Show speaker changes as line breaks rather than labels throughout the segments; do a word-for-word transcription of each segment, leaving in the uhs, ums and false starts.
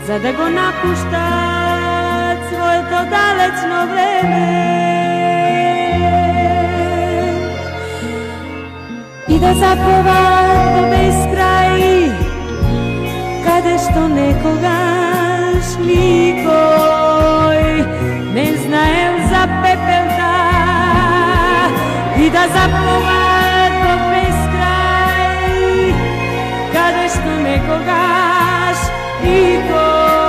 за да го напуштат своето далечно време и да заплуват до безкрај, каде што некогаш никој не знаел за пепелта, и да заплуват до безкрај, каде што некогаш никој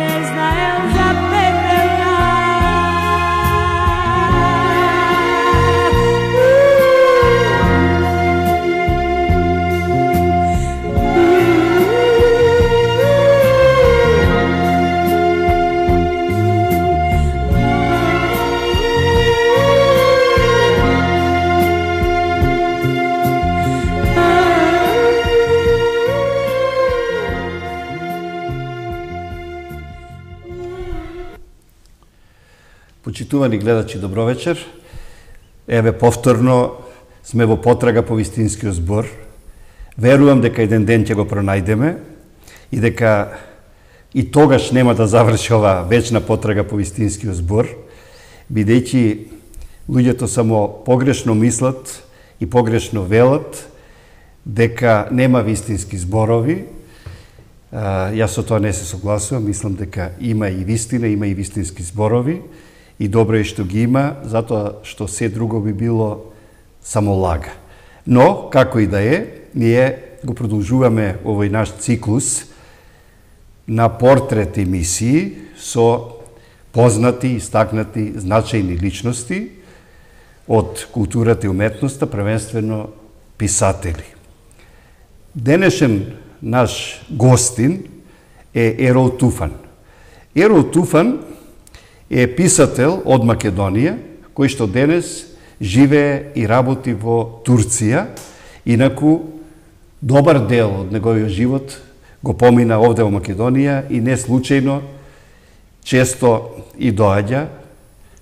не знаел за пепелта.
Почитувани гледачи, добро вечер. Еве повторно сме во потрага по вистинскиот збор. Верувам дека еден ден ќе го пронајдеме и дека и тогаш нема да заврши ова вечна потрага по вистинскиот збор, бидејќи луѓето само погрешно мислат и погрешно велат дека нема вистински зборови. Јас со тоа не се согласувам, мислам дека има и вистина, има и вистински зборови. И добро е што ги има, затоа што се друго би било само лага. Но, како и да е, ние го продолжуваме овој наш циклус на портрет емисии со познати, истакнати, значајни личности од културата и уметноста, првенствено писатели. Денешен наш гостин е Ерол Туфан. Ерол Туфан е писател од Македонија, кој што денес живее и работи во Турција. Инаку, добар дел од неговиот живот го помина овде во Македонија и не случајно често и доаѓа,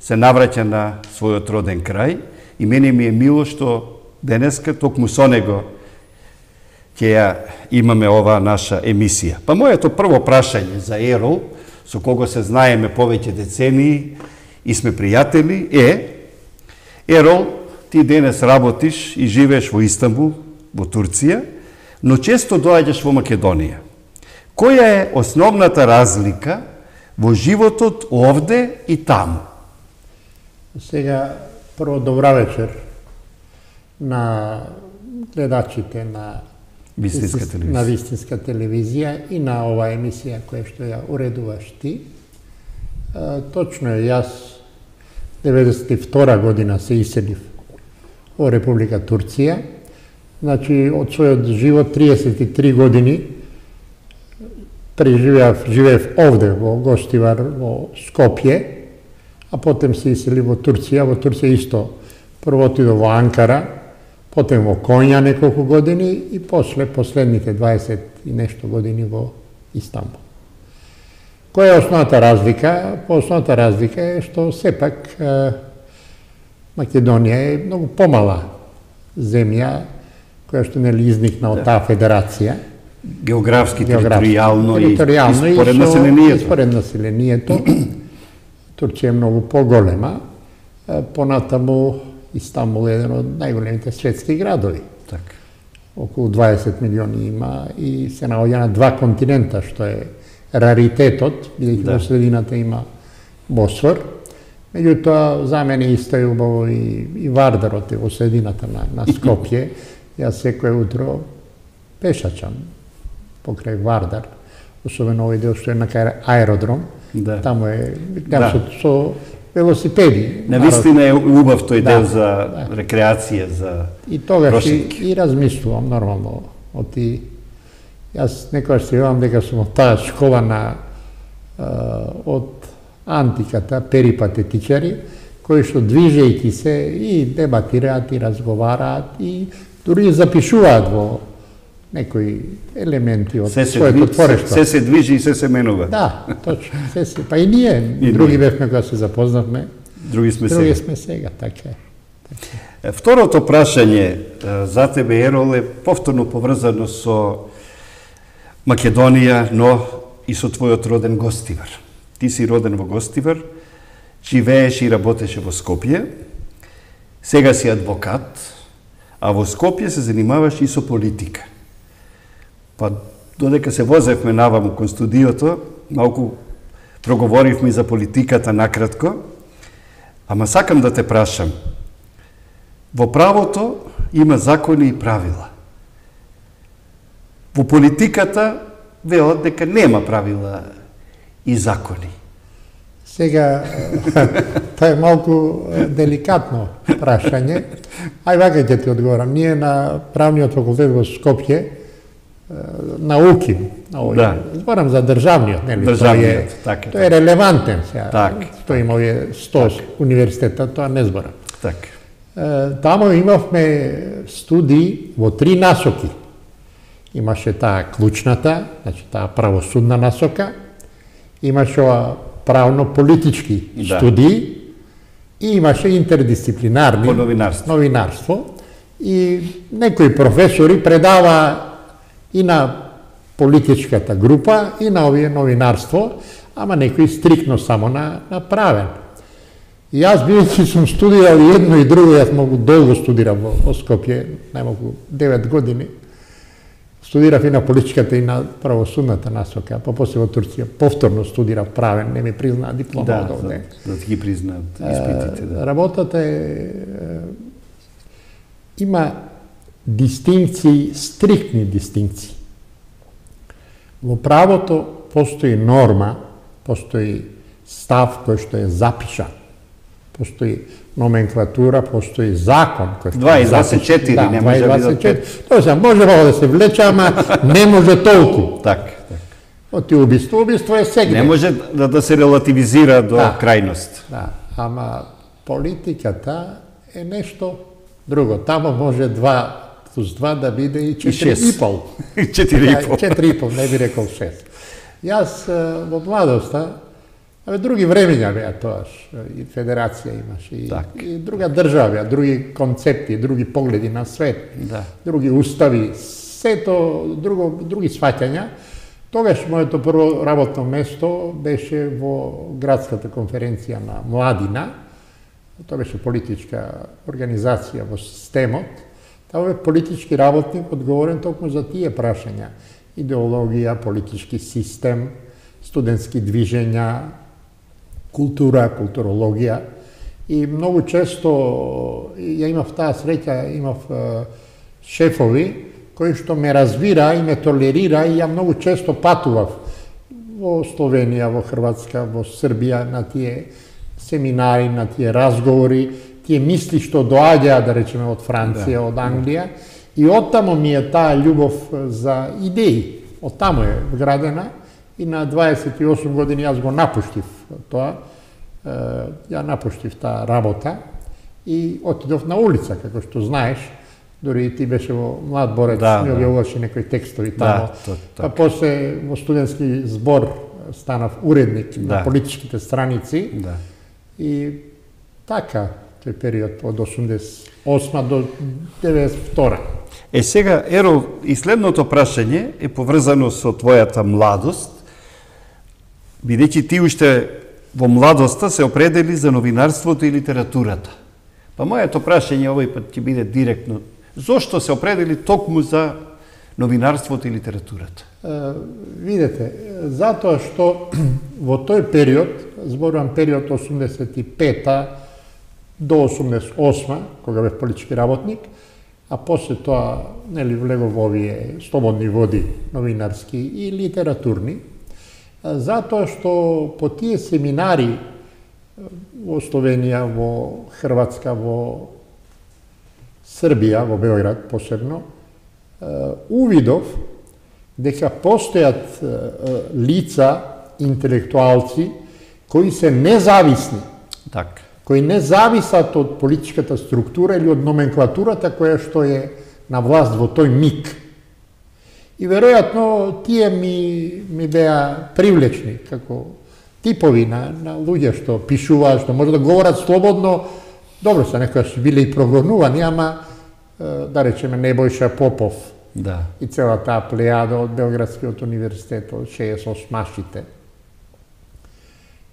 се навраќа на својот роден крај и мене ми е мило што денеска токму со него ќе ја имаме оваа наша емисија. Па моето прво прашање за Ерол, со кого се знаеме повеќе децении и сме пријатели, е: Ерол, ти денес работиш и живееш во Истанбул, во Турција, но често доаѓаш во Македонија. Која е основната разлика во животот овде и таму?
Сега, прво добра вечер на гледачите на
Вистинска телевизија.
на Вистинска телевизија и на оваа емисија која што ја уредуваш ти. А, точно е, јас деветдесет и втора година се иселив во Република Турција. Значи, од својот живот триесет и три години преживеав, живеев овде во Гостивар, во Скопје, а потем се иселив во Турција. Во Турција исто прво отидов во Анкара, потем во Конја неколку години и после последните дваесет и нешто години во Истанбул. Која е основната разлика? По основната разлика е што сепак е, Македонија е многу помала земја која што нели изникна од таа федерација.
Географски, територијално и,
територијално
и според
и
населението.
И според населението. Турција е многу поголема. Понатаму Истанбул е еден од најголемите светски градови.
Така.
Околу дваесет милиони има и се наоѓа на два континента, што е раритетот, бидејќи
Да.
во средината има Босфор. Меѓутоа, за мене исто е убаво и, и Вардарот е во средината на, на Скопје. Јас секој утро пешачам покрај Вардар, особено овој дел што е на кај аеродром.
Да.
Таму е
Да.
со, со велосипеди.
Навистина е убав тој
Да,
дел за
да.
рекреација, за
И тогаш и,
прошетки.
и размислувам нормално. Оти, јас некојаш се јавам дека сум од таа школа на а, од антиката, перипатетичари, кои што движејќи се и дебатираат и разговараат и дури запишуваат во некои елементи од
се се,
своето
дви, се,
творештво.
се се движи и се се менува.
Да, точно. Се се. Па и ние,
И
други
ние.
бевме кога се запознавме,
Други сме
други
сега.
сме сега, така е.
Е, Второто прашање е, за тебе, Ерол, е повторно поврзано со Македонија, но и со твојот роден Гостивар. Ти си роден во Гостивар, живееш и работеше во Скопје, сега си адвокат, а во Скопје се занимаваш и со политика. Па додека се возевме наваму кон студиото, малку проговоривме за политиката накратко, ама сакам да те прашам. Во правото има закони и правила. Во политиката велат дека нема правила и закони.
Сега, тоа е малку деликатно прашање. Ај вака ќе ти одговорам. Ние на правниот факултет во Скопје науки,
да.
Зборам за државниот, нели?
Државниот, така.
Тоа е релевантен сега.
Так.
Тоа има овие сто так. универзитета, тоа не зборам.
Така.
Тамо имавме студии во три насоки. Имаше таа клучната, значи таа правосудна насока, имаше ова правно-политички
да.
студии и имаше интердисциплинарни
по новинарство.
новинарство. И некои професори предава и на политичката група, и на овие новинарство, ама некои стрикно само на, на правен. И јас, бидејќи сум студирал и едно и друго, јас многу долго студирам во, во Скопје, најмалку девет години, студирав и на политичката и на правосудната насока, па после во Турција повторно студирав правен, не ми признаа диплома
да,
од овде.
Да, да ти ги признаат испитите. Да.
Работата е, има дистинкции, стриктни дистинкции. Во правото постои норма, постои став кој што е запишан, постои номенклатура, постои закон кој што
е дваесет и четири,
да,
не може да
биде. Тоа се може да се влече, ама не може толку.
Така, така.
Оти убиство, убиство е сегде.
Не може да, да се релативизира до
да,
крајност.
Да, ама политиката е нешто друго. Тамо може два плюс два да биде и четири и пол.
четири и пол.
четири и пол, не би рекол шест. Јас во младоста, абе други времења беа тоаш, и федерација имаш, и, и друга држава беа, други концепти, други погледи на свет,
да.
други устави, сето друго, други сваќања. Тогаш моето прво работно место беше во градската конференција на Младина. Тоа беше политичка организација во системот. Таа бе политички работник одговорен токму за тие прашања. Идеологија, политички систем, студентски движења, култура, културологија. И многу често ја имав таа среќа, имав шефови кои што ме разбира и ме толерира и ја многу често патував во Словенија, во Хрватска, во Србија на тие семинари, на тие разговори, тие мисли што доаѓаат, да речеме, од Франција, да, од Англија. И оттамо ми е таа љубов за идеи. Оттамо е вградена и на дваесет и осум години јас го напуштив тоа. Ја напуштив таа работа и отидов на улица, како што знаеш. Дори и ти беше во Млад борец,
да,
ми објавуваше некои текстови тамо. Да, па после во студентски збор станав уредник да. на политичките страници.
Да.
И така, тој период од осумдесет и осма до деветдесет и втора.
Е сега, Еро, и следното прашање е поврзано со твојата младост, бидејќи ти уште во младоста се определи за новинарството и литературата. Па моето прашање овој пат ќе биде директно. Зошто се определи токму за новинарството и литературата?
Uh, видете, затоа што во тој период, зборувам период осумдесет и пета до осумдесет и осма, кога бев политички работник, а после тоа нели влегов во овие слободни води новинарски и литературни, затоа што по тие семинари во Словенија, во Хрватска, во Србија, во Београд посебно, увидов дека постојат лица, интелектуалци, кои се независни,
так.
кои не зависат од политичката структура или од номенклатурата која што е на власт во тој миг. И веројатно тие ми, ми беа привлечни, како типови на, на луѓе што пишуваат, што може да говорат слободно. Добро се, некоја се биле и прогонувани, ама да речеме Небојша Попов,
Да.
И цела таа плејада од Белградскиот универзитет, од шеесет и осмашите.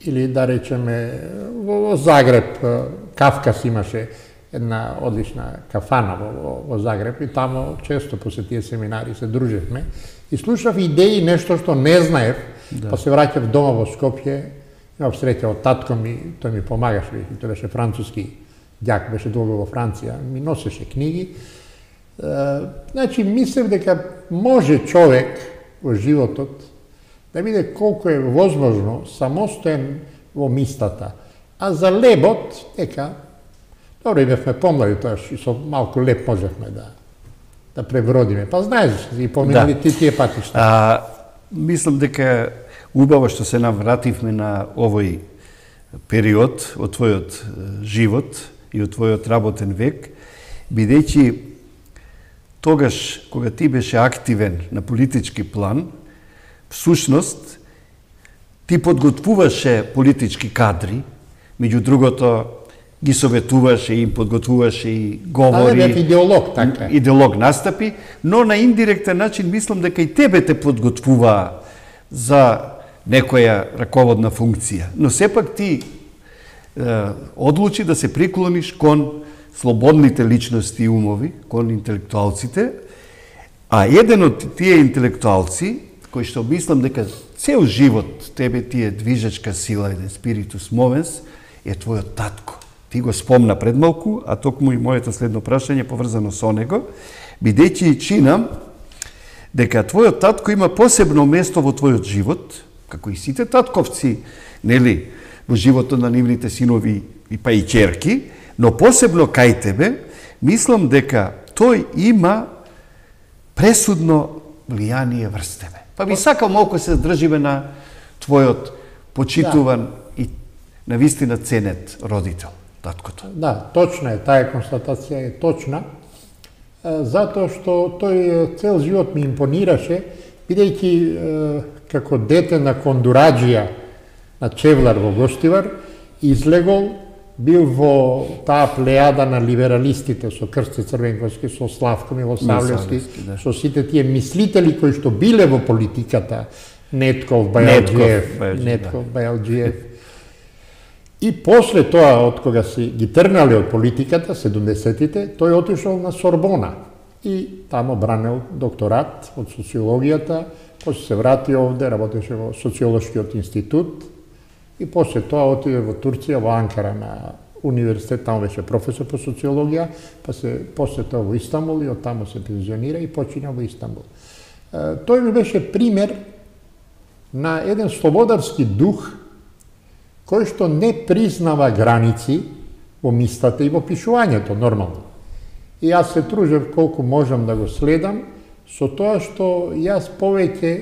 Или да речеме, во Загреб, Кавказ имаше една одлична кафана во, во Загреб и тамо често по тие семинари се дружевме и слушав идеи, нешто што не знаев, да. Па се враќав дома во Скопје, имав среќа од татко ми, тој ми помагаше, тој беше француски ѓак, беше долго во Франција, ми носеше книги. Uh, значи, мислев дека може човек во животот да биде колку е возможно самостоен во мислата. А за лебот, дека, добро, и бевме помлади, тоа и со малку леп можевме да, да пребродиме. Па знаеш, и поминали да. Ти тие патишта.
А, мислам дека убаво што се навративме на овој период од твојот живот и од твојот работен век, бидејќи тогаш, кога ти беше активен на политички план, всушност, ти подготвуваше политички кадри, меѓу другото, ги советуваше, им подготвуваше и говори.
Але бев идеолог, така.
Идеолог настапи, но на индиректен начин мислам дека и тебе те подготвуваа за некоја раководна функција. Но сепак ти е, одлучи да се приклониш кон слободните личности и умови, кон интелектуалците, а еден од тие интелектуалци, кој што мислам дека цел живот тебе ти е движечка сила, еден спиритус мовенс, е твојот татко. Ти го спомна пред малку, а токму и моето следно прашање поврзано со него, бидејќи чинам дека твојот татко има посебно место во твојот живот, како и сите татковци, нели, во животот на нивните синови и па и ќерки, но посебно кај тебе, мислам дека тој има пресудно влијание врз тебе. Па би сакал малку се држиме на твојот почитуван да. И навистина ценет родител, таткото.
Да, точна е, таа констатација е точна, затоа што тој цел живот ми импонираше, бидејќи како дете на кондураджија на Чевлар во Гоштивар, излегол, бил во таа плејада на либералистите со Крсте Црвенковски, со Славко Милосавлевски, да. Со сите тие мислители кои што биле во политиката, Нетков, Бајалджиев, Нетков, да. Бајалджиев. И после тоа, од кога си ги тргнале од политиката, седумдесетите, тој отишол на Сорбона и тамо бранел докторат од социологијата, после се врати овде, работеше во социолошкиот институт, и после тоа отиде во Турција, во Анкара на универзитет, таму беше професор по социологија, па се после тоа во Истанбул и оттаму се пензионира и почина во Истанбул. Тој ми беше пример на еден слободарски дух кој што не признава граници во мислата и во пишувањето нормално. И јас се тружев колку можам да го следам со тоа што јас повеќе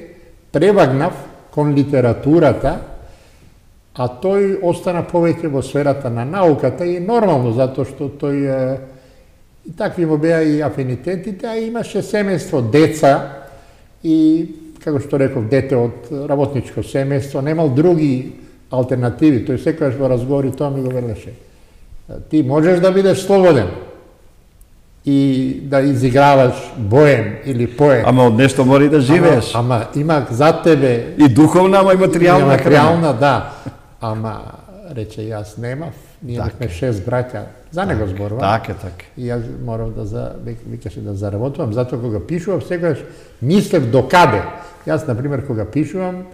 превагнав кон литературата, а тој остана повеќе во сферата на науката и нормално, затоа што тој и такви му беа и афинитетите, а имаше семејство, деца и, како што реков, дете од работничко семејство, немал други алтернативи. Тој секогаш во разговори тоа ми го велеше. Ти можеш да бидеш слободен и да изиграваш боем или поем.
Ама од нешто мора и да живееш.
Ама, ама има за тебе...
И духовна, ама и материјална.
И материјална, да. Ама, рече, јас немав, ние бевме шест браќа, за него зборувам.
Така, така.
И јас морав да, за, викаше, да заработувам, затоа кога пишував, секогаш мислев до каде. Јас, например, кога пишувам,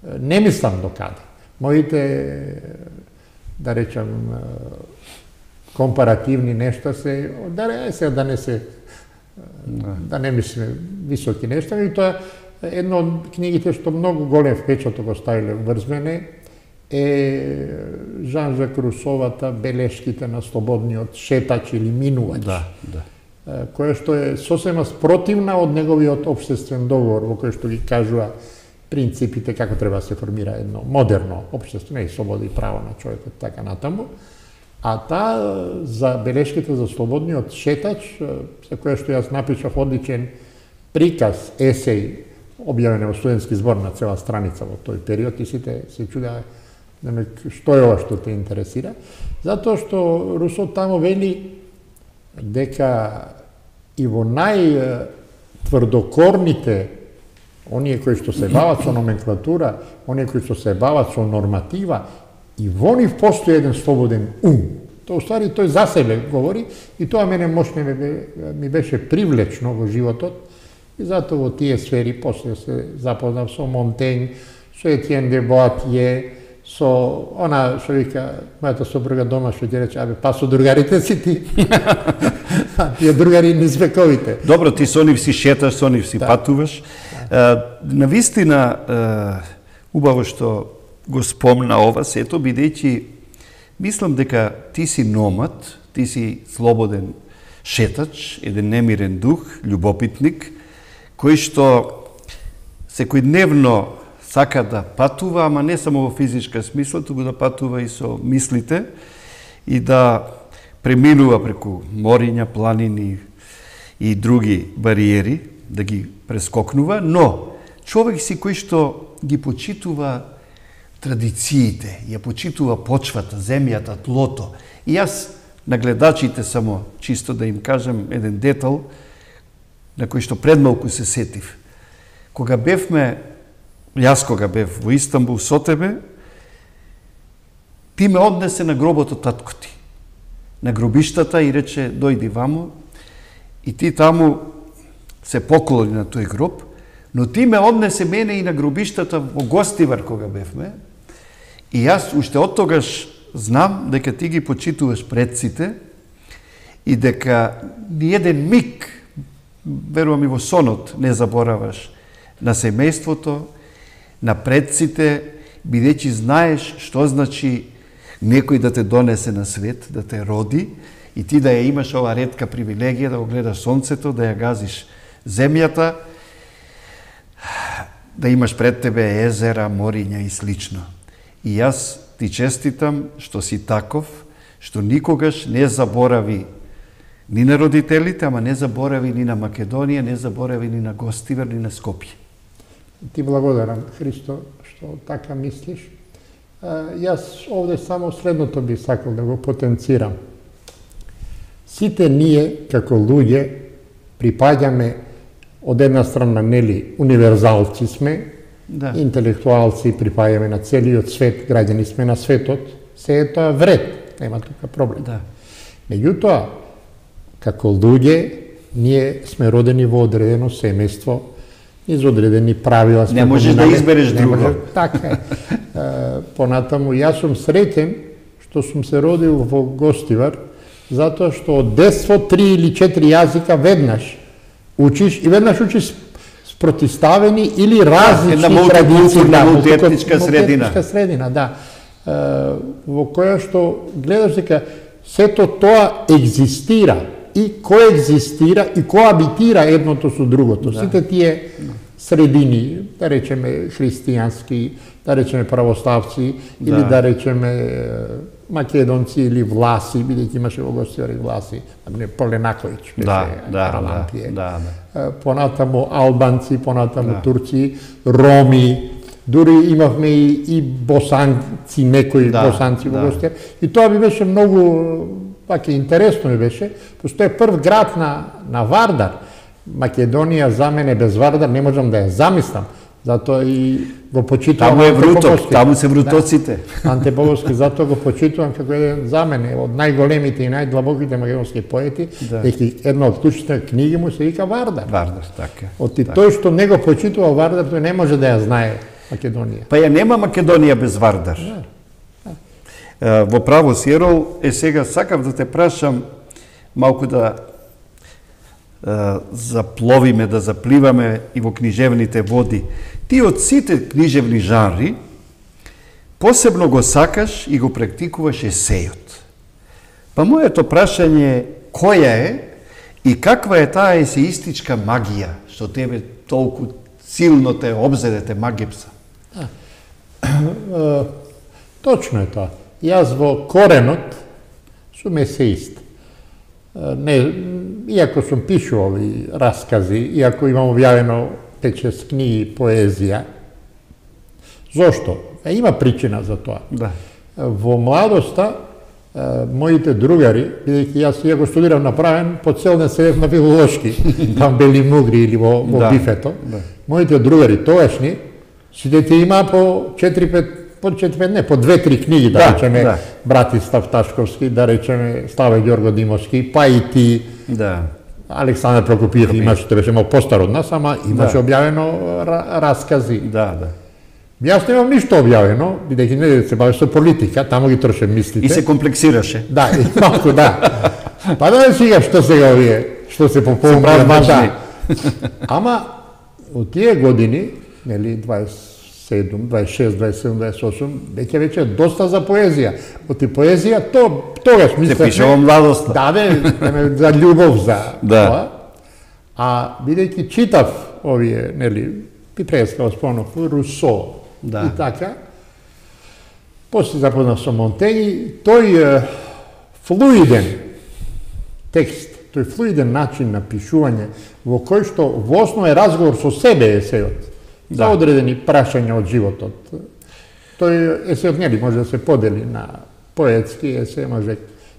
не мислам до каде. Моите, да речам, компаративни нешта се, да, се, да не се, да не мислиме високи нешта, и тоа едно од книгите што многу голем впечаток оставиле врз мене е Жан-Жак Русовата Белешките на слободниот шетач или минувач.
Да, да.
Која што е сосема спротивна од неговиот општествен договор, во кој што ги кажува принципите како треба да се формира едно модерно општество, не и слобода и право на човекот, така натаму. А таа за белешките за слободниот шетач, за која што јас напишав одличен приказ, есеј, објавен во студентски збор на цела страница во тој период и сите се чудеа што е ова што те интересира. Затоа што Русо тамо вели дека и во нај тврдокорните, оние кои што се бават со номенклатура, оние кои што се бават со норматива, и во нив постои еден слободен ум. Тоа уствари тој за себе говори и тоа мене мощно ми беше привлечно во животот и затоа во тие сфери после се запознав со Монтень, со Етиен де Боатие, со она што вика мојата сопруга дома што ќе рече, абе па со другарите си ти. Тие другари не звековите.
Добро, ти со нив си шеташ, со нив си да. патуваш. Да. Навистина, убаво што го спомна ова сето, бидејќи мислам дека ти си номад, ти си слободен шетач, еден немирен дух, љубопитник, кој што секојдневно сака да патува, ама не само во физичка смисла, туку да патува и со мислите и да преминува преку мориња, планини и други бариери, да ги прескокнува, но човек си кој што ги почитува традициите, ја почитува почвата, земјата, тлото. И јас на гледачите само чисто да им кажам еден детал на кој што предмалку се сетив. Кога бевме, јас кога бев во Истанбул со тебе, ти ме однесе на гробот од татко ти, на гробиштата и рече дојди вамо и ти таму се поклони на тој гроб, но ти ме однесе мене и на гробиштата во Гостивар кога бевме. И јас уште од тогаш знам дека ти ги почитуваш предците и дека ни еден миг, верувам и во сонот, не забораваш на семејството, на предците, бидејќи знаеш што значи некој да те донесе на свет, да те роди и ти да ја имаш ова ретка привилегија да го гледаш сонцето, да ја газиш земјата, да имаш пред тебе езера, мориња и слично. И јас ти честитам што си таков, што никогаш не заборави ни на родителите, ама не заборави ни на Македонија, не заборави ни на Гостивар, ни на Скопје.
Ти благодарам, Христо, што така мислиш. Јас овде само следното би сакал да го потенцирам. Сите ние, како луѓе, припаѓаме од една страна, нели, универзалци сме, да. Интелектуалци, припаѓаме на целиот свет, граѓани сме на светот, се е тоа вред, нема тука проблем. Да. Меѓутоа, како луѓе, ние сме родени во одредено семејство, из одредени правила.
Не можеш да избереш друго. Може,
така е. Понатаму, јас сум среќен што сум се родил во Гостивар, затоа што од детство три или четири јазика веднаш учиш и веднаш учиш спротиставени или различни традиции.
Да, мултиетничка средина.
Мултиетничка средина, да. Во која што гледаш дека сето тоа екзистира и коегзистира и коабитира едното со другото. Да. Сите тие средини, да речеме христијански, да речеме православци, да. Или да речеме македонци или власи, бидејќи имаше во Гостивар и власи, не Поленаковиќ, беше
да, да,
Каралампије.
Да, да.
Понатаму албанци, понатаму да. Турци, роми, дури имавме и, и босанци, некои да, босанци во да. Гостивар. И тоа би беше многу пак е интересно ми беше, пошто е прв град на, на Вардар. Македонија за мене без Вардар не можам да ја замислам, затоа и го почитувам.
Таму е Вруток, таму се врутоците.
Да, Анте Боговски, затоа го почитувам како еден за мене од најголемите и најдлабоките македонски поети, да. Деки една од клучните книги му се вика Вардар.
Вардар, така.
Од и тој што не го почитувал Вардар, тој не може да ја знае Македонија.
Па ја нема Македонија без Вардар. Да. Во право си, Ерол, е сега сакав да те прашам малку да е, запловиме, да запливаме и во книжевните води. Ти од сите книжевни жанри посебно го сакаш и го практикуваш есејот. Па моето прашање е која е и каква е таа есеистичка магија што тебе толку силно те обзеде, те магипса?
Точно е тоа. Јас во коренот сум есеист. Не, иако сум пишувал и раскази, иако имам објавено пет-шест книги поезија. Зошто? Има причина за тоа.
Да.
Во младоста моите другари, бидејќи јас иако студирав на правен, по цел ден седев на филолошки, там Бели Мугри или во, во
да,
бифето.
Да.
Моите другари тогашни, сите има по четири-пет, по четири-пет, не, по две-три книги, да, да речеме, да. Братислав Ташковски, да речеме, Славе Ѓорго Димовски, па и ти,
да.
Александар Прокопиев Прокопиев. Имаше, тоа беше мал постар од нас, ама имаше да. објавено разкази.
Да, да.
Јас немам ништо објавено, бидејќи не се бавеше со политика, таму ги троше мислите.
И се комплексираше.
Да, и малку, да. Па да не сега што сега овие, што се поповнуваат мажа. Ама, од тие години, нели, дваесет и седум, дваесет и шест, дваесет и седум, дваесет и осум, веќе веќе доста за поезија. Од ти поезија, то, тогаш мислеше...
Се пише во младоста.
Да, бе, за љубов, за
да.
тоа. А, бидејќи читав овие, нели, Пипреска, спомнав, Русо, да. И така, после запознав со Монтењи, тој е, флуиден текст, тој флуиден начин на пишување, во кој што во основа е разговор со себе есеот, за да. Одредени прашања од животот. Тој есеот нели може да се подели на поетски есе, може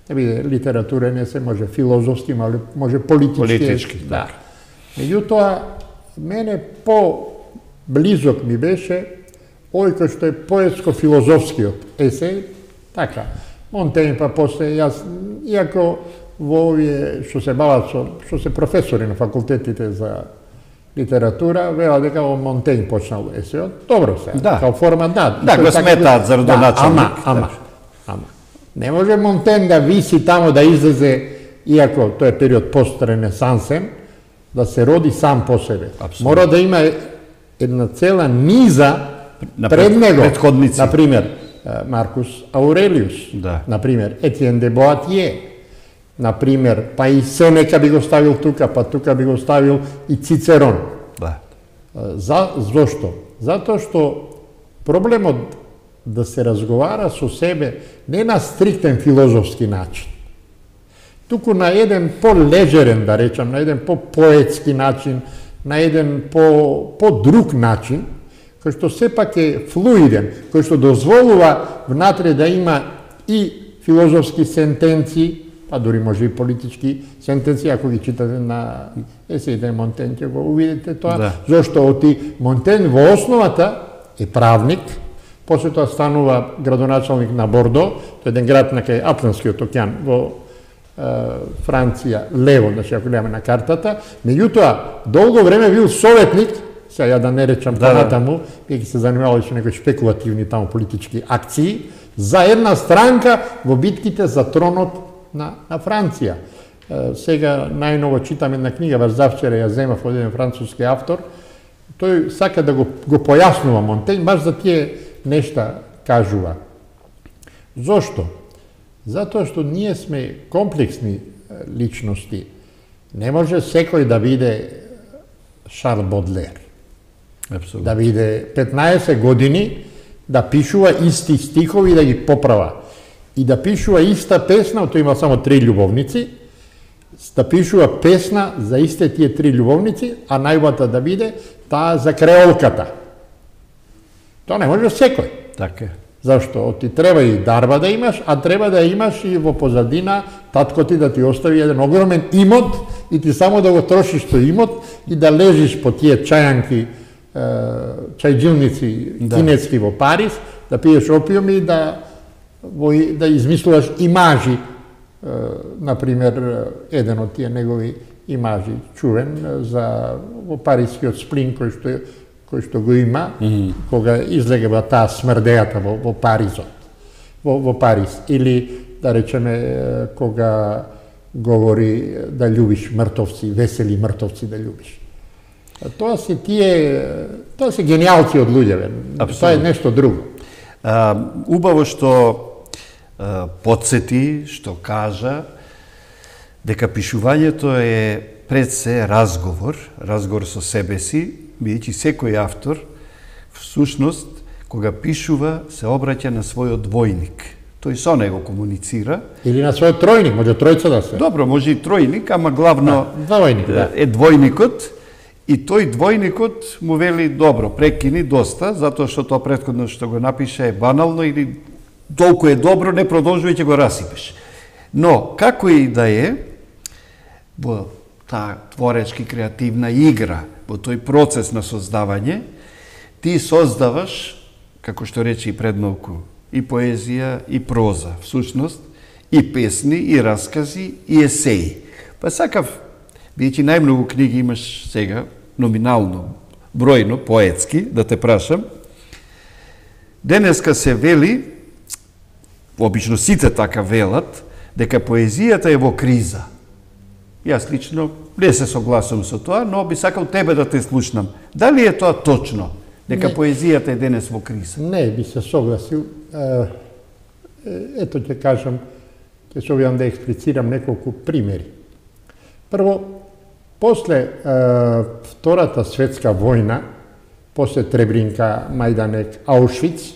да биде литературен есе, може филозофски, може политички,
политички
есе. Да. Меѓутоа, мене по близок ми беше овој кој што е поетско-филозофскиот есеј, така, Монтењ па после јас, иако во овие што се бават со, што се професори на факултетите за литература, вела дека во Монтењ почнал есејот, добро се,
да.
Као форма, да.
Да, го сметаат за родоначалник.
Да, ама, ама, ама. Не може Монтењ да виси тамо да излезе, иако тој е период пост-ренесансен, да се роди сам по себе. Абсолютно. Мора да има една цела низа пред него,
предходници.
Например, Маркус Аурелиус,
да.
Например, Етиен де Боатие, например, па и Сенека би го ставил тука, па тука би го ставил и Цицерон.
Да.
За, зошто? Затоа што проблемот да се разговара со себе не на стриктен филозофски начин, туку на еден по-лежерен, да речам, на еден по-поетски начин, на еден по, по-друг начин, кој што сепак е флуиден, кој што дозволува внатре да има и филозофски сентенции, па дури може и политички сентенции, ако ги читате на есеите Монтењ, ќе го увидите тоа, да. Зошто оти Монтењ во основата е правник, после тоа станува градоначалник на Бордо, тој е еден град на кај Атлантскиот океан, во е, Франција, лево, значи ако гледаме на картата, меѓутоа долго време бил советник, сега ја да не речам да, понатаму, веќе се занимавали со некои шпекулативни таму политички акции, за една странка во битките за тронот на, на Франција. Е, сега најново читам една книга, баш завчера ја земав од еден француски автор, тој сака да го, го појаснува Монтењ, баш за тие нешта кажува. Зошто? Затоа што ние сме комплексни личности. Не може секој да биде Шарл Бодлер.
Абсолютно.
Да биде петнаесет години, да пишува исти стихови и да ги поправа. И да пишува иста песна, тој има само три љубовници, да пишува песна за исте тие три љубовници, а најубавата да биде таа за креолката. Тоа не може секој.
Така е.
Зашто? Ти треба и дарба да имаш, а треба да имаш и во позадина татко ти да ти остави еден огромен имот и ти само да го трошиш тој имот и да лежиш по тие чајанки, чајджилници да. Кинески во Париз, да пиеш опиум и да, во, да измислуваш имажи. Например, еден од тие негови имажи, чувен, за во парискиот сплин кој што кој што го има, mm -hmm. кога излегува таа смрдејата во, во Паризот, во, во Париз. Или, да речеме, кога говори да љубиш мртовци, весели мртовци да љубиш. Тоа се тие, тоа се гениалци од луѓе, тоа е нешто друго.
А, убаво што а, подсети, што кажа, дека пишувањето е пред се разговор, разговор со себе си, бидејќи секој автор, всушност, кога пишува, се обраќа на својот двојник. Тој со него комуницира.
Или на својот тројник, може тројца да се.
Добро, може и тројник, ама главно
да, двојник, да.
е двојникот. И тој двојникот му вели, добро, прекини доста, затоа што тоа претходно што го напише е банално или толку е добро, не продолжувај, ќе го расипеш. Но, како и да е, во таа творечки креативна игра, во тој процес на создавање, ти создаваш, како што рече и предмалку, и поезија, и проза, всушност, и песни, и раскази, и есеи. Па сакав, бидејќи најмногу книги имаш сега, номинално, бројно, поетски, да те прашам, денеска се вели, обично сите така велат, дека поезијата е во криза. Јас лично не се согласувам со тоа, но би сакал тебе да те слушнам. Дали е тоа точно, дека не. Поезијата е денес во криза?
Не, би се согласил. Ето ќе кажам, ќе се обидам да експлицирам неколку примери. Прво, после е, Втората светска војна, после Требринка, Мајданек, Аушвиц,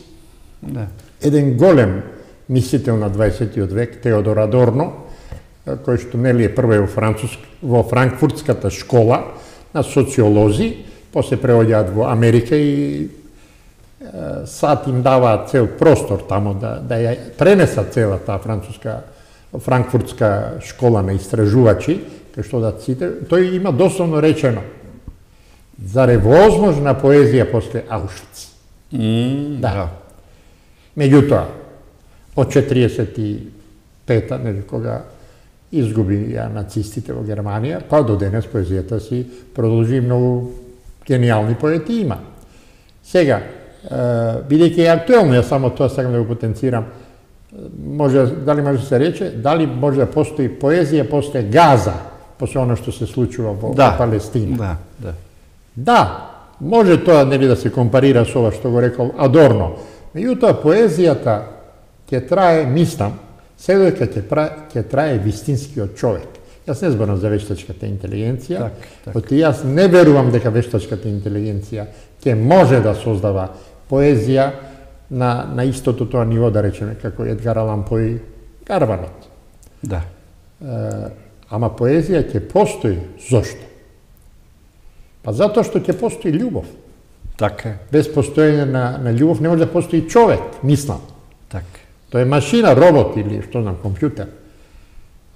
да.
Еден голем мислител на дваесеттиот век, Теодор Адорно, кој што нели е прве во, Француск, во Франкфуртската школа на социолози, после преоѓаат во Америка и е, сад им даваат цел простор тамо да, да ја пренесат цела таа француска, Франкфуртска школа на истражувачи, кај што да ците, тој има дословно речено: зар е возможна поезија после Аушвиц?
Mm,
да.
да.
Меѓутоа, од четириесет и пета, нели, кога изгуби ја нацистите во Германија, па до денес поезијата си продолжи, многу гениални поети има. Сега, бидејќи е актуелно, ја само тоа сакам да го потенцирам, може, дали може да се рече, дали може да постои поезија после Газа, после оно што се случува во,
да,
во Палестина.
Да, да.
Да, може тоа нели да се компарира со ова што го рекол Адорно. Меѓутоа поезијата ќе трае, мислам, се додека ќе, ќе трае вистинскиот човек. Јас не зборам за вештачката интелигенција,
так, так.
Оти јас не верувам дека вештачката интелигенција ќе може да создава поезија на, на истото тоа ниво, да речеме, како Едгар Алан По и Гарванот.
Да.
Е, ама поезија ќе постои. Зошто? Па затоа што ќе постои љубов.
Така.
Без постоење на, на љубов не може да постои човек, мислам.
Така.
Тоа е машина, робот или што знам, компјутер.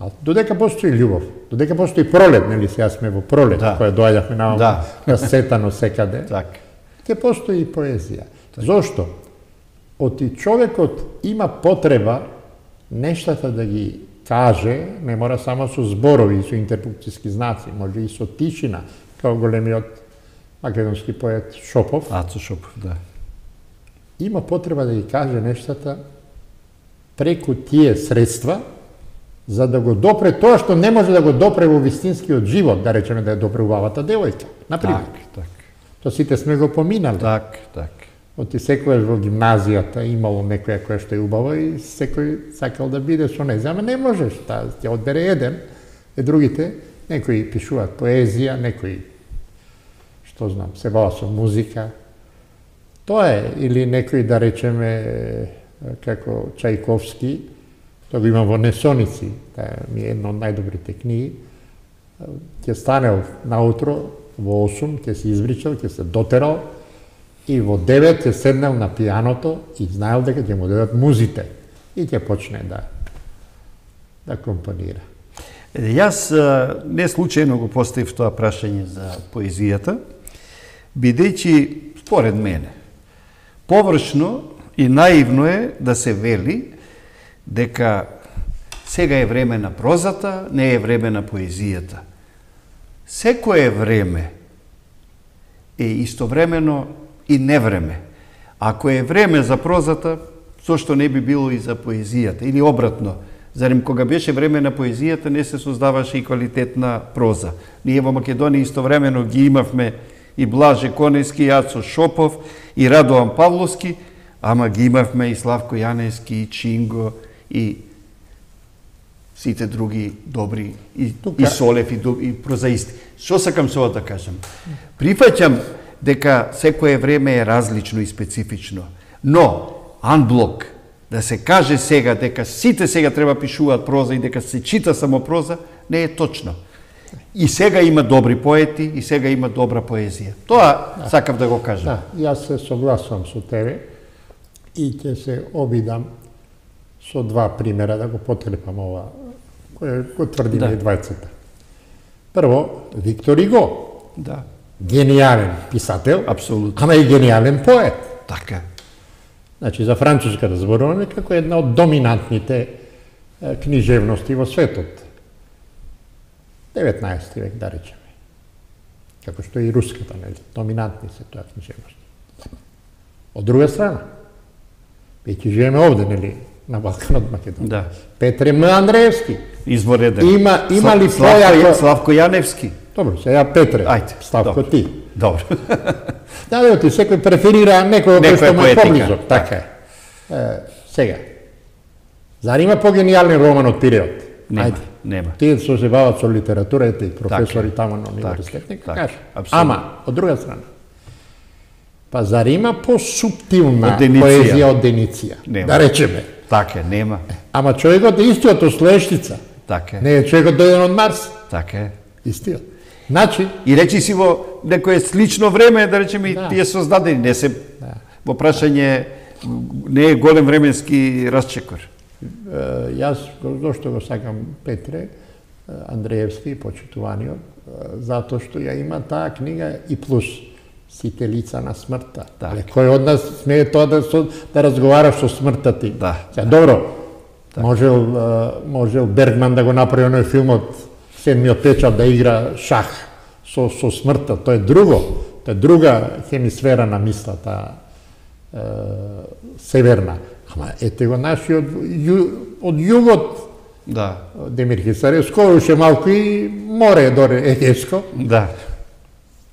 А додека постои љубов, додека постои пролет, нели сега сме во пролет, да. Која доаѓавме на
да.
Насетано секаде,
така.
Ќе постои и поезија. Так. Зошто? Оти човекот има потреба нештата да ги каже, не мора само со зборови, со интерпункцијски знаци, може и со тишина, како големиот македонски поет Шопов.
Ацо Шопов, да.
Има потреба да ги каже нештата преку тие средства, за да го допре тоа што не може да го допре во вистинскиот живот, да речеме да ја допре убавата девојка, например.
Так, так.
Тоа сите сме го поминали.
Так, так.
Оти секојаш во гимназијата имало некоја која што е убава и секој сакал да биде со неја, ама не можеш, таа ќе одбере еден, и другите, некои пишуваат поезија, некои, што знам, се бава со музика. Тоа е, или некои, да речеме, како Чајковски, тоа го имам во Несоници, таа ми е една од најдобрите книги, ќе станел наутро, во осум, ќе се извричал, ќе се дотерал, и во девет ќе седнал на пијаното и знаел дека ќе му дадат музите и ќе почне да да компонира.
Јас не случајно го поставив тоа прашање за поезијата, бидејќи, според мене, површно и наивно е да се вели дека сега е време на прозата, не е време на поезијата. Секое време е истовремено и невреме. Ако е време за прозата, зошто не би било и за поезијата? Или обратно, зарем кога беше време на поезијата, не се создаваше и квалитетна проза. Ние во Македонија истовремено ги имавме и Блаже Конески, и Ацо Шопов, и Радоан Павловски, ама ги имавме и Славко Јанески, и Чинго, и сите други добри, и, Тука... и Солев, и, и прозаисти. Што сакам со ова да кажам? Прифаќам дека секое време е различно и специфично, но анблок да се каже сега дека сите сега треба пишуваат проза и дека се чита само проза, не е точно. И сега има добри поети, и сега има добра поезија. Тоа да. Сакав да го кажам.
Да, јас се согласувам со тебе и ќе се обидам со два примера да го потрепам ова, кој го тврдиме
Да.
и двајцата. Прво, Виктор Иго,
Да.
гениален писател,
Апсолутно.
ама и гениален поет.
Така.
Значи, за француска да зборуваме како една од доминантните е, книжевности во светот. деветнаесети век, да речеме. Како што и руската, нели? Доминантни се тоа книжевности. Од друга страна, веќе живееме овде, нели? На Балканот Македонија.
Да.
Петре М. Андреевски.
Извореден.
Има, има ли
Славко,
појако...
Славко Јаневски.
Добро, сега Петре.
Ајде.
Славко
добро.
ти.
Добро.
Да, да, ти секој преферира некој кој
Некоја
што му е
поетика.
поблизок. Така е. Е, сега. Зар има погениален роман од Пиреот?
Нема,
Ајде.
нема.
Тие што се бават со литература, ете и професори
Така е.
таму на универзитет, нека
така,
кажа.
апсолутно.
Ама, од друга страна, па зар има посуптилна
Од Дениција?
поезија од Дениција?
Нема.
Да речеме.
Така е, нема.
Ама човекот е истиот од Слештица.
Така е.
Не е човекот дојден од Марс.
Така е.
Истиот. Значи,
И речи си во некое слично време, да речеме, и
Да.
тие создадени, не се
Да.
во прашање не е голем временски расчекор.
е, јас го- зошто го сакам Петре е, Андреевски, почитуваниот, е, затоа што ја има таа книга и плюс Сите лица на смртта.
Така.
Але кој од нас смее тоа да, со, да разговара со смртта ти?
Да.
Сега, добро, можел, е, можел Бергман да го направи оној филмот Седмиот печат да игра шах со, со смртта. Тоа е друго. Тоа е друга хемисфера на мислата е, северна. Ама ете го нашиот ју, од југот
Да.
Демир Хисаревско, уште малку и море доре Егеско.
Да.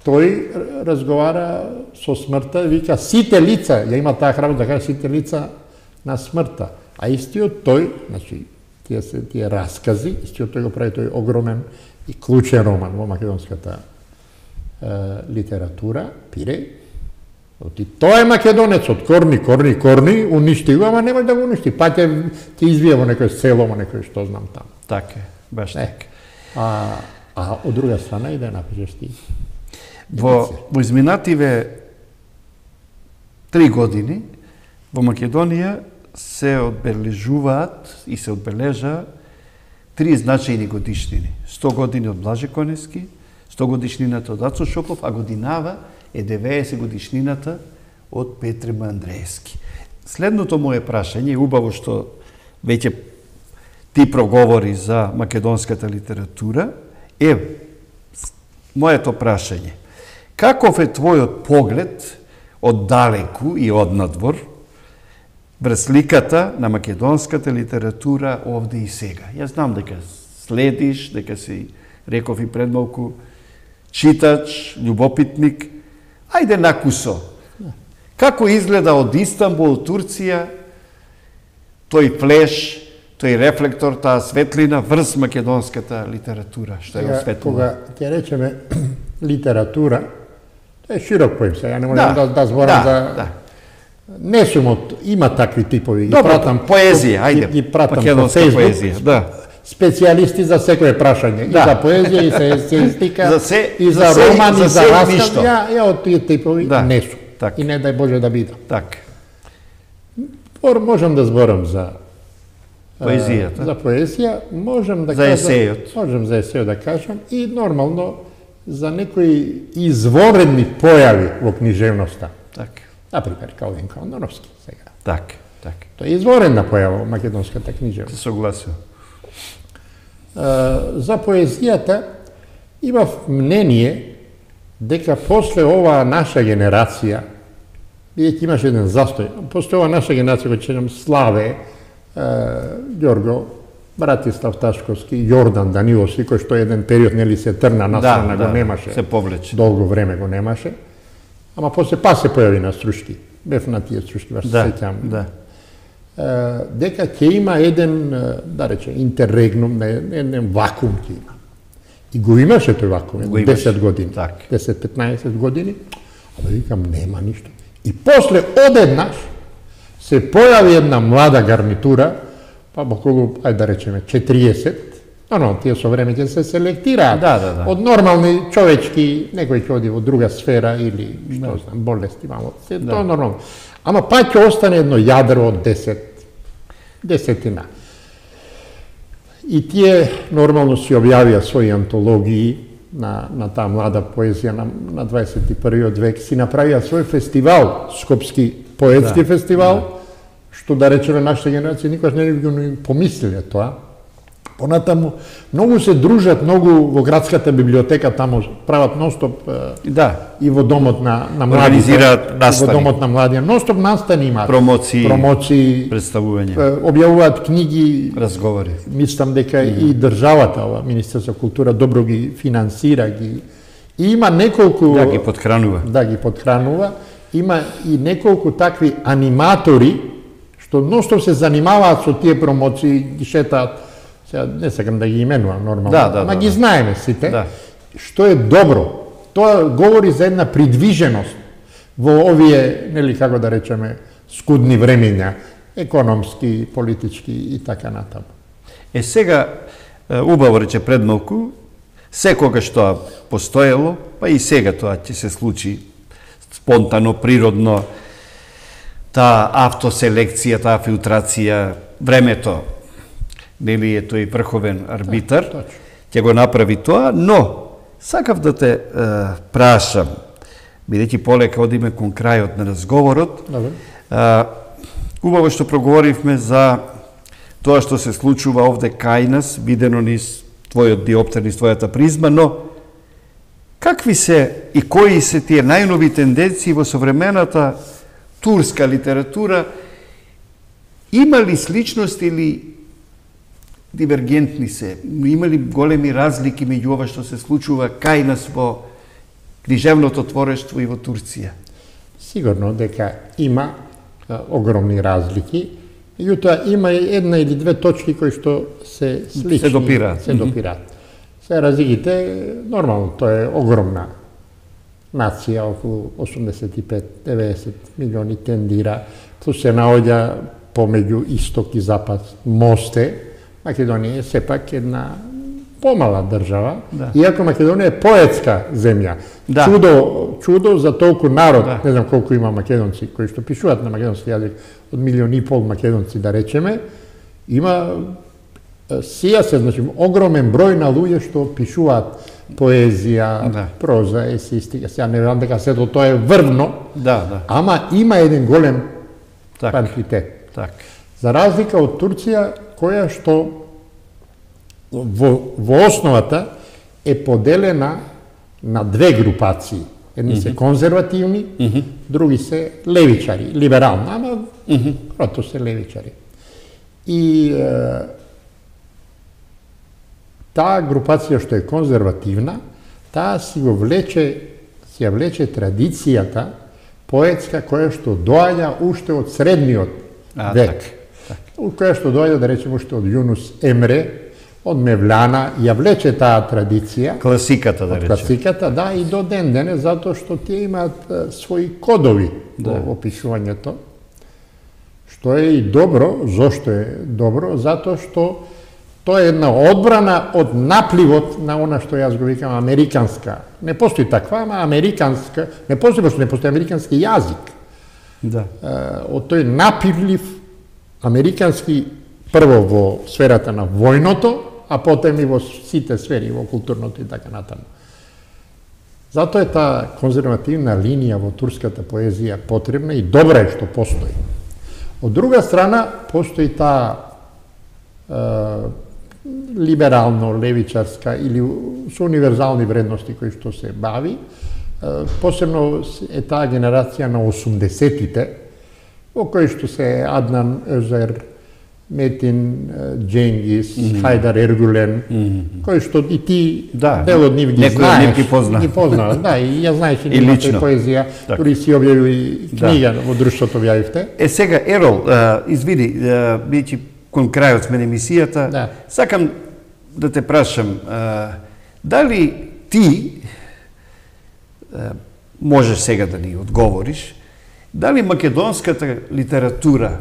Тој разговара со смртта, вика сите лица, ја има таа храброст да каже сите лица на смртта. А истиот тој, значи, тие се тие раскази, истиот тој го прави тој огромен и клучен роман во македонската е, литература, Пире. Оти тоа е македонец од корни, корни, корни, уништи го, ама нема да го уништи. Па ќе ќе извие во некој село, во некој што знам таму.
Така е. Баш
Е.
така.
А, а од друга страна и да напишеш ти.
Во, во изминативе три години во Македонија се одбележуваат и се одбележа три значајни годишнини. сто години од Блаже Коневски, сто годишнината од Ацо Шопов, а годинава е деветдесет годишнината од Петре М. Андреевски. Следното моje прашање, убаво што веќе ти проговори за македонската литература, е моето прашање. Каков е твојот поглед од далеку и од надвор врз сликата на македонската литература овде и сега? Јас знам дека следиш, дека си, реков и пред малку, читач, љубопитник. Ајде накусо. Како изгледа од Истанбул, Турција, тој флеш, тој рефлектор, таа светлина врз македонската литература, што е
Сега,
осветлена?
кога ќе речеме литература, тоа е широк поим, сега не можам
Да,
да, да, да зборам
да,
за...
да.
Не сум од... Има такви типови. Ги
Добро,
пратам,
поезија, ајде,
Ги, ги пратам по
македонска
Facebook.
поезија, да.
Специјалисти за секое прашање.
Да.
И за поезија, и за есеистика,
За се-
и
за
за,
се-
роман,
за
и за
се и
расказ.
ништо.
Ја, ја од тие типови
Да,
не сум.
така.
И не дај Боже да бидам.
Така.
Ор, можам да зборам за
Поезијата.
а, За поезија, можам да
За
кажам,
есејот.
можам за есејот да кажам и нормално за некои извонредни појави во книжевноста.
Така.
Например, Калвин Кондоновски сега.
Така, така.
Тоа е извонредна појава во македонската
Се
книжевност.
согласувам.
А, за поезијата имав мнение дека после оваа наша генерација, бидејќи имаше еден застој, после оваа наша генерација, кој чекам Славе, Ѓорго, Братислав Ташковски, Јордан Даниловски, кој што еден период нели се трна настрана,
да,
го немаше.
се повлече.
Долго време го немаше. Ама после па се појави на Струшки. Бев на тие Струшки, баш се
Да,
сеќам.
да.
Е, дека ќе има еден, е, да рече, интеррегнум, не, еден вакуум ќе има. И го имаше тој вакуум,
Го имаше,
десет години,
така.
десет-петнаесет години, а да викам, нема ништо. И после одеднаш се појави една млада гарнитура, па околу, ајде да речеме, четириесет, но, но, тие со време ќе се селектираат.
Да, да, да.
Од нормални човечки, некој ќе оди во друга сфера или, што знам, болести, мамо, се, тоа е нормално. Ама па ќе остане едно јадро од десет, десетина. И тие нормално си објавија своји антологии на, на таа млада поезија на, на дваесет и првиот век, си направија свој фестивал, Скопски поетски да, фестивал, да. Што да речеме нашата генерација никош не би го помислиле тоа. Понатаму, многу се дружат, многу во градската библиотека, таму прават ностоп
да.
И во домот на, на младите, и во домот на младија. Ностоп настани имаат.
Промоции,
промоции
представувања.
Објавуваат книги,
разговори.
Мислам дека mm -hmm. и државата, ова Министерство култура добро ги финансира, ги и има неколку
да ги подхранува.
Да ги подхранува. Има и неколку такви аниматори што ностоп се занимаваат со тие промоции, ги шетаат. Сега не сакам да ги именувам нормално,
да, да,
ама
да,
ги
да.
знаеме сите,
да.
Што е добро. Тоа говори за една придвиженост во овие, нели како да речеме, скудни времења, економски, политички и така натаму.
Е сега, убаво рече пред малку, секогаш тоа постоело, па и сега тоа ќе се случи спонтано, природно, таа автоселекција, таа филтрација, времето, нели е тој врховен арбитар,
да,
ќе го направи тоа, но сакав да те е, прашам, бидејќи полека одиме кон крајот на разговорот, е, убаво што проговоривме за тоа што се случува овде кај нас, видено низ твојот диоптер, низ твојата призма, но какви се и кои се тие најнови тенденции во современата турска литература, има ли сличност или дивергентни се? Има ли големи разлики меѓу ова што се случува кај нас во книжевното творештво и во Турција?
Сигурно дека има а, огромни разлики, меѓутоа има една или две точки кои што се слични,
се допираат.
Се допираат. Се разликите, нормално, тоа е огромна нација, околу осумдесет и пет до деветдесет милиони тендира, тоа се наоѓа помеѓу исток и запад мосте. Македонија е сепак една помала држава, да. Иако Македонија е поетска земја. Да. Чудо, чудо за толку народ, да. Не знам колку има македонци кои што пишуваат на македонски јазик, од милион и пол македонци да речеме, има сија се, значи, огромен број на луѓе што пишуваат поезија, да. Проза, есеистика. Сега не знам дека сето тоа е врвно,
да, да.
Ама има еден голем
так.
квантитет.
Так.
За разлика од Турција, која што во, во основата е поделена на две групации. Едни mm -hmm. се конзервативни, mm -hmm. други се левичари, либерални, ама mm -hmm. прото се левичари. И е, таа групација што е конзервативна, таа си го влече, си ја влече традицијата поетска која што доаѓа уште од средниот
а,
век.
Так.
Која што доаѓа, да речеме, уште од Јунус Емре, од Мевлана, ја влече таа традиција.
Класиката, да речеме.
Класиката, да, и до ден денес, затоа што тие имаат а, своји кодови
да.
Во опишувањето. Што е и добро, зошто е добро? Затоа што тоа е една одбрана од напливот на она што јас го викам американска. Не постои таква, ама американска, не постои, пошто не постои американски јазик.
Да.
А, од тој напливлив американски, прво во сферата на војното, а потем и во сите сфери, во културното и така натаму. Затоа е таа конзервативна линија во турската поезија потребна и добра е што постои. Од друга страна, постои таа е, либерално-левичарска или со универзални вредности кои што се бави. Е, посебно е таа генерација на осумдесетите, во кои што се Аднан Өзер, Метин Дженгис, mm -hmm. Хајдар Ергулен, mm -hmm. кои што и ти
да,
дел од нив ги знаеш.
Ги позна.
Ги позна, да, и ја знаеш и нивната поезија, дури си објавил книга да. Во друштвото објавивте.
Е сега, Ерол, uh, извини, uh, бидејќи кон крајот сме на емисијата, да. Сакам да те прашам, uh, дали ти uh, можеш сега да ни одговориш, дали македонската литература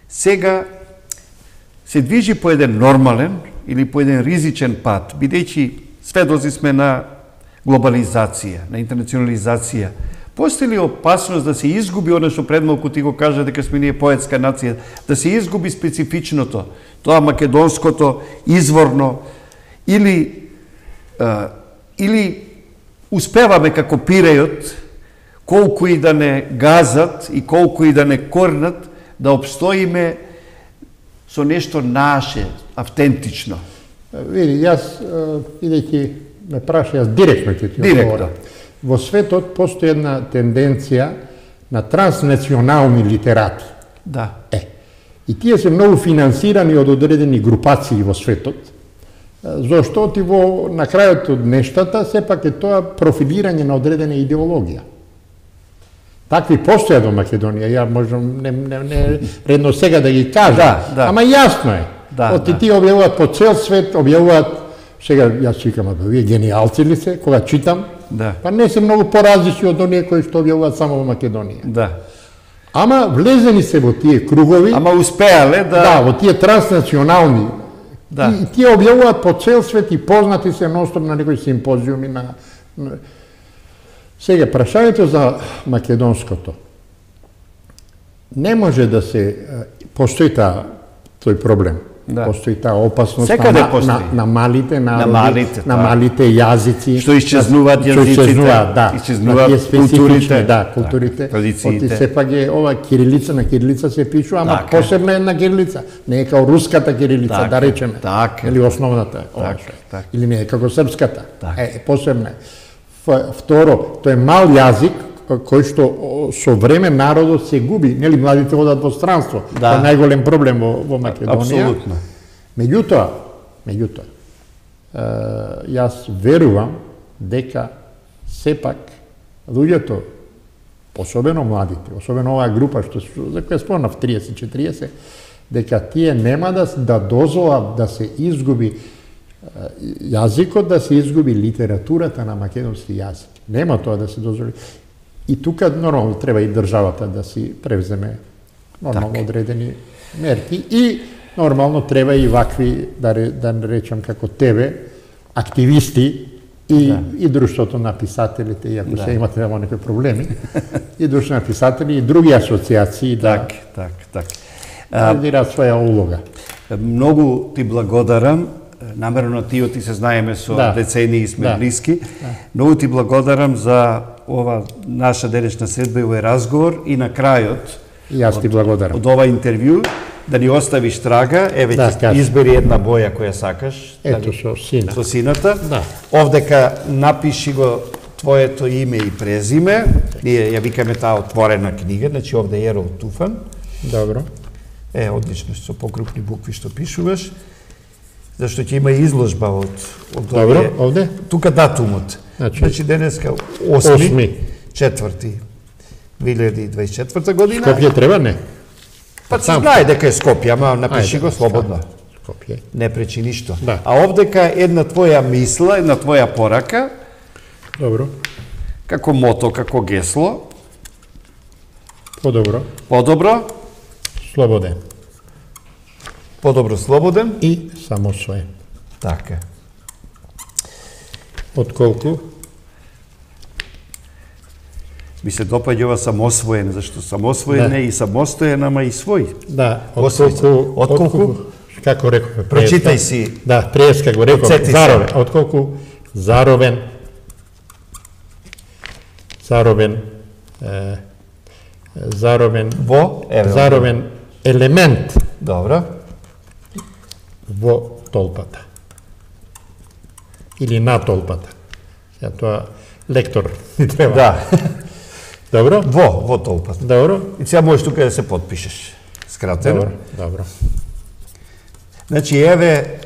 сега се движи по еден нормален или по еден ризичен пат, бидејќи сведоци сме на глобализација, на интернационализација, Постои ли опасност да се изгуби оно што пред малку ти го кажа дека сме ние поетска нација, да се изгуби специфичното, тоа македонското, изворно, или а, или успеваме како Пирејот, колку и да не газат и колку и да не корнат, да обстоиме со нешто наше, автентично.
Види, јас, идејќи ме праша, јас директно ќе ти одговорам. Во светот постои една тенденција на транснационални литерати.
Да.
Е, и тие се многу финансирани од одредени групации во светот, зашто ти во на крајот од нештата сепак е тоа профилирање на одредена идеологија. Такви постојат во Македонија, ја можам не, не, не редно сега да ги кажам,
да, да.
Ама јасно е.
Да,
Оти
да.
тие објавуваат по цел свет, објавуваат, сега јас викам, а вие гениалци ли се, кога читам,
да.
Па не се многу поразлични од оние кои што објавуваат само во Македонија.
Да.
Ама влезени се во тие кругови.
Ама успеале да...
Да, во тие транснационални.
Да.
И, и тие објавуваат по цел свет и познати се ностоп на некои симпозиуми на... на... Сега, прашањето за македонското. Не може да се... Постои таа тој проблем.
Да.
Постои таа опасност
Секаде
на,
постои.
на, на малите народи,
на малите,
на малите јазици.
Што исчезнуваат јазиците,
исчезнуваат, да.
исчезнуваат
на тие
културите,
да, културите.
Традициите.
Оти сепак е ова кирилица на кирилица се пишува, ама
така.
Посебна една кирилица. Не е као руската кирилица,
така,
да речеме.
така.
Или основната.
така, така.
Или не е како српската.
така.
Е, посебна е. Второ, тој е мал јазик кој што со време народот се губи, нели младите одат во странство.
Да.
Тоа е најголем проблем во, во Македонија.
Апсолутно.
Меѓутоа, меѓутоа, јас верувам дека сепак луѓето, особено младите, особено оваа група што за која спомнав триесет четириесет, дека тие нема да да дозволат да се изгуби јазикот, да се изгуби литературата на македонски јазик. Нема тоа да се дозволи. И тука нормално треба и државата да си превземе нормално так. Одредени мерки и нормално треба и вакви, да, да речам како тебе, активисти и, да. И друштвото на писателите, иако да. Се имате само некои проблеми, и друштвото на писатели и други асоциации
так, да так, так.
Да дират своја улога.
Многу ти благодарам. Намерно ти ти се знаеме со да. Децении сме да. Блиски. Да. Многу ти благодарам за ова наша денешна средба и овој разговор и на крајот
и јас ти благодарам.
Од ова интервју да ни оставиш трага, еве да, ќе избери една боја која сакаш.
Ето
да,
со сина.
Со сината.
Да.
Овдека напиши го твоето име и презиме. Ние ја викаме таа отворена книга, значи овде е Ерол Туфан.
Добро.
Е, одлично, со покрупни букви што пишуваш. Зашто ќе има изложба од од
Добро, овие, овде?
Тука датумот. Значи, значи денеска осми четврти две илјади дваесет и четврта година.
Скопје треба не?
Па се знае дека е Скопје, ама напиши Ајде, го слободно.
Скопје.
Не пречи ништо.
Да.
А овдека една твоја мисла, една твоја порака.
Добро.
Како мото, како гесло.
Подобро.
Подобро.
Слободен.
Подобро слободен.
И самосвоен.
Така.
Отколку?
Ми се допаѓа ова самосвоен, зашто самосвоен да. Е и самостоен, ама и свој.
Да, отколку...
Отколку?
Како рековме?
Прочитај си.
Да, преска го реков. Заровен. Отколку заровен, заровен, е, заровен,
во, еве,
заровен елемент.
Добро.
Во толпата. Или на толпата. Ја тоа лектор ни треба.
Да.
Добро?
Во, во толпата.
Добро.
И сега можеш тука да се подпишеш. Скратено.
Добро, добро.
Значи, еве,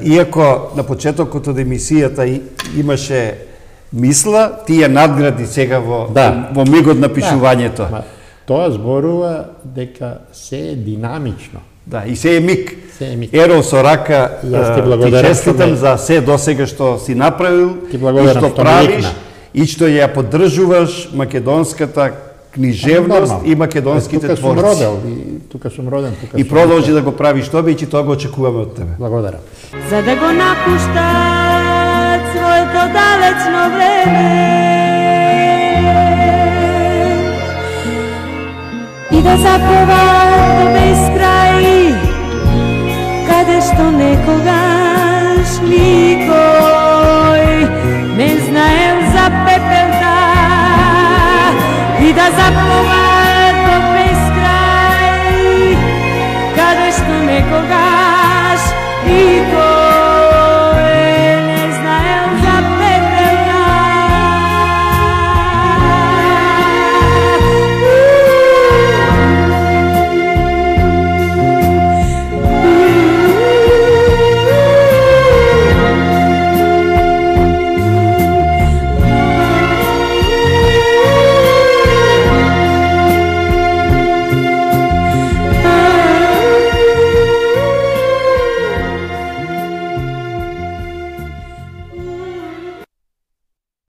иако на почетокот од емисијата имаше мисла, ти ја надгради сега во, да. Во мигот на пишувањето.
Да. Тоа зборува дека се е динамично.
Да, и се е миг.
Се е миг.
Ерол со рака, ти честитам за се досега што си направил,
ти
и што правиш, и што ја поддржуваш македонската книжевност а, и македонските
тука
творци.
Тука сум родел, и тука сум роден, тука
и продолжи да го правиш тоа, и тоа го очекуваме од тебе.
Благодарам.
За да го напуштат своето далечно време, да заплува до безкрај, каде што некогаш никој не знаел за пепелта, и да заплува до безкрај, каде што некогаш никој